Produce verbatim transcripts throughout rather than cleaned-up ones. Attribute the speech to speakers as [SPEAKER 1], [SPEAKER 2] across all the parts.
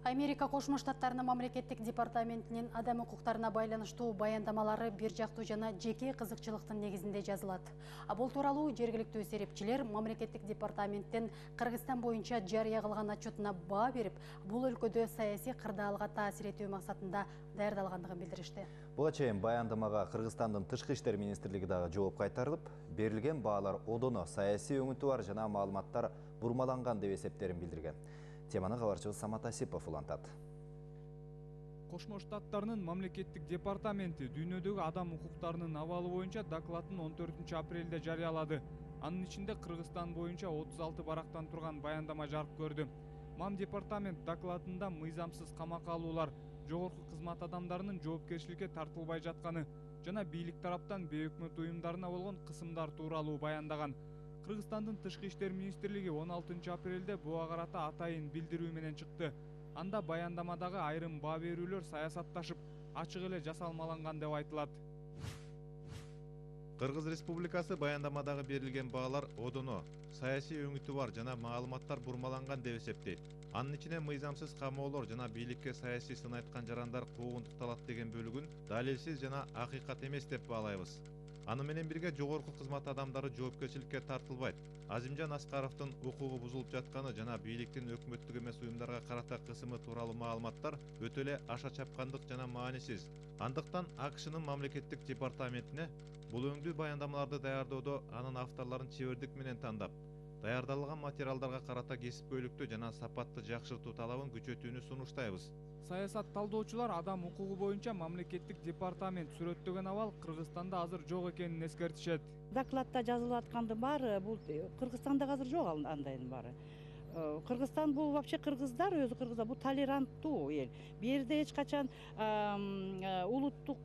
[SPEAKER 1] Америка Кошмо Штаттарынын мамлекеттик департаментинин адам укуктарына байланыштуу баяндамалары бир жактуу жана жеке кызыкчылыктын негизинде жазылат. А бул тууралуу жергиликтүү серепчилер мамлекеттик департаменттин Кыргызстан боюнча жарыя кылган отчетуна баа берип, бул өлкөдө саясий кырдаалга таасир этүү максатында даярдалгандыгын билдиришти.
[SPEAKER 2] Буга чейин баяндамага Кыргызстандын Тышкы иштер министрлиги дагы жооп кайтарылып, берилген баалар одоно саясий өңүтү бар жана маалыматтар бурмаланган деп эсептерин билдирген. Теманы кабарчыбыз Самат Асипов улантат.
[SPEAKER 3] Кошмо Штаттарынын мамлекеттик департаменти дүйнөдөгү адам укуктарынын абалы боюнча докладын он төртүнчү апрелде жарыялады. Анын ичинде Кыргызстан боюнча отуз алты барактан турган баяндама жарык көрдү. Мам департамент докладында мыйзамсыз камакка алуулар, жогорку кызмат адамдарынын жоопкерчиликке тартылбай жатканы жана бийлик тараптан бейөкмөт уюмдарына болгон кысымдар тууралуу баяндаган. Кыргызстандын Тышкы иштер министрлиги он алтынчы апрелде буга карата атайын билдирүү менен чыкты. Анда баяндамадагы айрым баа берүүлөр саясатташып, ачык эле жасалмаланган деп айтылат.
[SPEAKER 4] Кыргыз Республикасы баяндамадагы берилген баалар одоно саясий өңүтү бар жана маалыматтар бурмаланган деп эсептейт. Анын ичине мыйзамсыз камоолор жана бийликке саясий сын айткан жарандар куугунтукталат деген бөлүгүн далилсиз жана акыйкат эмес деп баалайбыз. Аны менен бирге жогорку кызмат адамдары жоопкерчиликке тартылбайт. Азимжан Аскаровдун укугу бузулуп жатканы жана бийликтин өкмөттүк эмес уюмдарга карата кысымы тууралуу маалыматтар өтө эле аша чапкандык жана маанисиз. Андыктан АКШнын мамлекеттик департаментине бул өңдүү баяндамаларды даярдоодо анын авторлорун чебердик менен тандап, даярдалган материалдарга карата кесипкөйлүктү жана сапатты жакшыртуу талабын күчөтүүнү сунуштайбыз.
[SPEAKER 3] Саясат талдоочулар адам укугу боюнча мамлекеттик департамент сүрөттөгөн абал Кыргызстанда азыр жок экенин эскертишет.
[SPEAKER 5] Докладта жазылып аткандын баары бул Кыргызстанда азыр жок андайдын баары. Кыргызстан бул вообще кыргыздар өзү кыргыздар бул толеранттуу эл. Бу жерде эч качан улуттук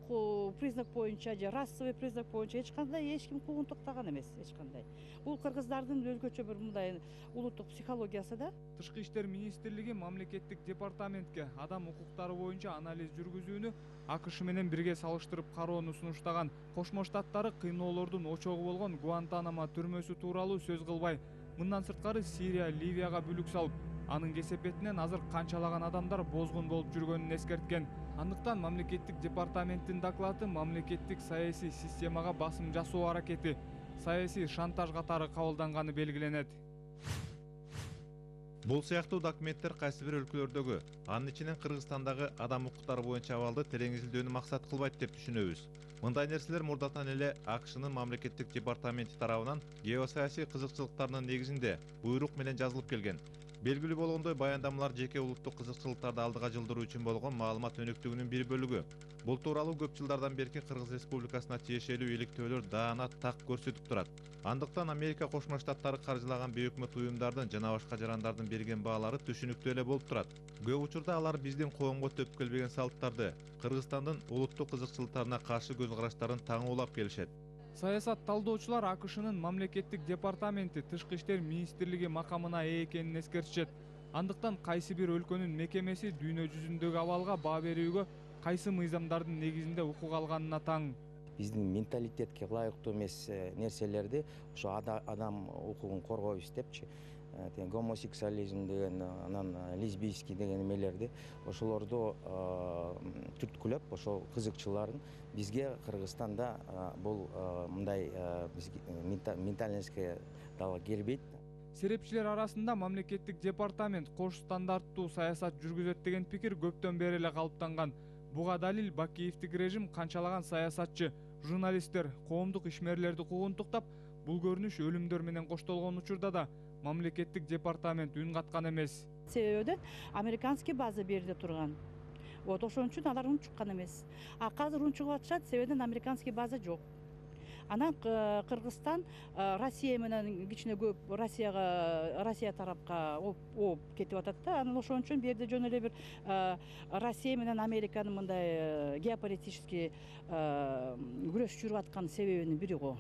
[SPEAKER 5] признак боюнча же расовый признак боюнча эч кандай эч ким куугунтуктаган эмес, эч кандай. Бул кыргыздардын өзгөчө бир мындай улуттук психологиясы да.
[SPEAKER 3] Тышкы иштер министрлиги мамлекеттик департаментке адам укуктары боюнча анализ жүргүзүүнү АКШ менен бирге салыштырып кароону сунуштаган. Кошмо Штаттары кыйноолордун очогу болгон Гуантанамо түрмөсү тууралуу сөз кылбай, мындан сырткары Сирия, Ливияга бүлүк салып, анын кесепетинен азыр канчалаган адамдар бозгун болуп жүргөнүн эскерткен. Андыктан мамлекеттик департаменттин доклады мамлекеттик саясий системага басым жасоо аракети, саясий шантаж катары кабылданганы белгиленет.
[SPEAKER 4] Бул сыяктуу документтер кайсы бир өлкөлөрдөгү, анын ичинен Кыргызстандагы адам укуктары боюнча абалды терең изилдөөнү максат кылбайт деп түшүнөбүз. Мындай нерселер мурдатан эле АКШнын мамлекеттик департаменти тарабынан геосаясий кызыкчылыктарынын негизинде буйрук менен жазылып келген. Белгилүү болгондой, баяндамалар жеке улуттук кызыкчылыктарды алдыга жылдыруу үчүн болгон маалымат өнүктүгүнүн бир бөлүгү. Бул тууралуу көп жылдардан берки Кыргыз Республикасына тиешелүү иликтөөлөр даана так көрсөтүп турат. Андыктан Америка Кошмо Штаттары каржылаган бейөкмөт уюмдардын жана башка жарандардын берген баалары түшүнүктүү эле болуп турат. Көп учурда алар биздин коомго төп келбеген салттарды, Кыргызстандын улуттук кызыкчылыктарына каршы көз караштарын таңуулап келишет.
[SPEAKER 3] Саясат талдоочулар АКШнын мамлекеттик департаменти Тышкы иштер министрлиги макамына ээ экенин эскертишет. Андыктан кайсы бир өлкөнүн мекемеси дүйнө жүзүндөгү абалга баа берүүгө кайсы мыйзамдардын негизинде укук алганына таң.
[SPEAKER 6] Биздин менталитетке ылайыктуу эмес нерселерди ошо адам укугун коргойбуз депчи, гомосексуализм деген, анан лесбийский деген эмелерди ошолорду түрткүлөп, ошол кызыкчыларын бизге Кыргызстанда бул мындай ментальностьке дагы келбейт.
[SPEAKER 3] Серепчилер арасында мамлекеттик департамент кош стандарттуу саясат жүргүзөт деген пикир көптөн бери эле калыптанган. Буга далил Бакиевдик режим канчалаган саясатчы, журналисттер, коомдук ишмерлерди куугунтуктап, бул көрүнүш өлүмдөр менен коштолгон учурда да мамлекеттик департамент үн каткан эмес.
[SPEAKER 5] Себеби американский база берде турган. Вот ошон үчүн алар үн чыккан эмес. А азыр үн чыгып атышат, себебинен американский база жок. Анан Кыргызстан Россия менен кичине көп Россияга, Россия тарапка оп кетип атат да. Анан ошон үчүн бу жерде жөн эле бир Россия менен Американын мындай геополитический күрөш жүрүп аткан себебинин бири го.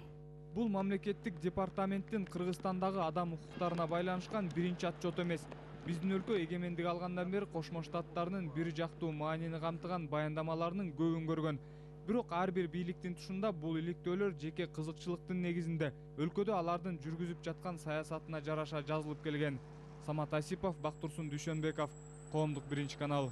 [SPEAKER 3] Бул мамлекеттик департаменттин Кыргызстандагы адам укуктарына байланышкан биринчи отчет эмес. Биздин өлкө эгемендик алгандан бери Кошмо Штаттарынын бир жактуу маанини камтыган баяндамаларынын көбүн көргөн. Бирок ар бир бийликтин тушунда бул иликтөөлөр жеке кызыкчылыктын негизинде өлкөдө алардын жүргүзүп жаткан саясатына жараша жазылып келген. Самат Асипов, Бактурсун Дүйшөнбеков, коомдук биринчи канал.